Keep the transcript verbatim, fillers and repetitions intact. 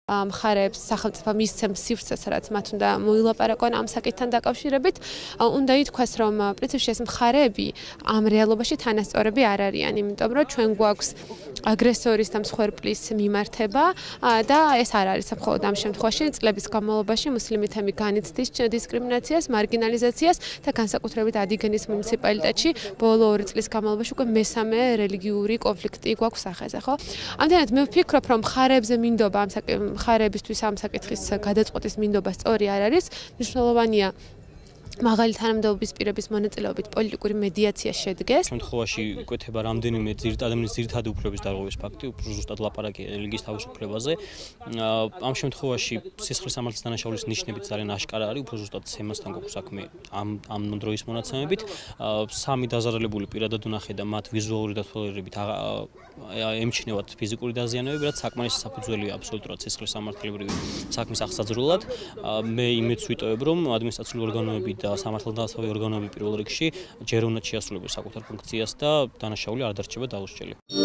მხარეებს სახელმწიფო მისცემს სივრცეს, რაც მათ უნდა მოილაპარაკონ ამ საკითხთან დაკავშირებით. უნდა ითქვას, რომ პრინციპში ეს მხარეები ამ რეალობაში თანასწორები არ არიან, იმიტომ რომ ჩვენ გვაქვს აგრესორის და მსხვერპლის მიმართება და ეს არ არის მხოლოდ ამ შემთხვევაში წლების განმავლობაში მუსლიმეთები განიცდის დისკრიმინაციას, მარგინალიზაციას და განსაკუთრებით ადიგენის მუნიციპალიტეტში ბოლო ორი წლის განმავლობაში უკვე მესამე რელიგიური კონფლიქტი გვაქვს სახეზე, ხო? ამდენად მე ვფიქრობ, რომ მხარეებზე მინდობა ამ მხარეებისთვის ამ საკითხის გადაწყვეტის მინდობა სწორი არ არის, მნიშვნელოვანია მაღალი თანამდებობის პირების მონაწილეობით პოლიტიკური მედიაცია შედგეს. შემთხვევაში იკვეთება რამდენიმე ადამიანის ძირითადი უფლებების დარღვევის ფაქტი, ზუსტად ლაპარაკი რელიგიის თავისუფლებაზე. ამ შემთხვევაში სისხლის სამართლის დანაშაულის ნიშნებით ძალიან აშკარა არის, უფრო ზუსტად სემასთან გვაქვს საქმე ამ ამ დროის მონაცემებით. სამი დაზარალებული პირადად ვნახე და მათ ვიზუალური დათვალიერებით ემჩნევათ ფიზიკური დაზიანებები, რაც საკმარის საფუძველია აბსოლუტურად სისხლის სამართლებრივი საქმის აღსაძრულად. მე იმედს ვიტოვებ, რომ ადმინისტრაციული ორგანოები და სამართალდამცავი ორგანოები პირველ რიგში ჯერ უნდა შეასრულებენ საკუთარ ფუნქციას და დანაშაული არ დარჩება დაუსჯელი.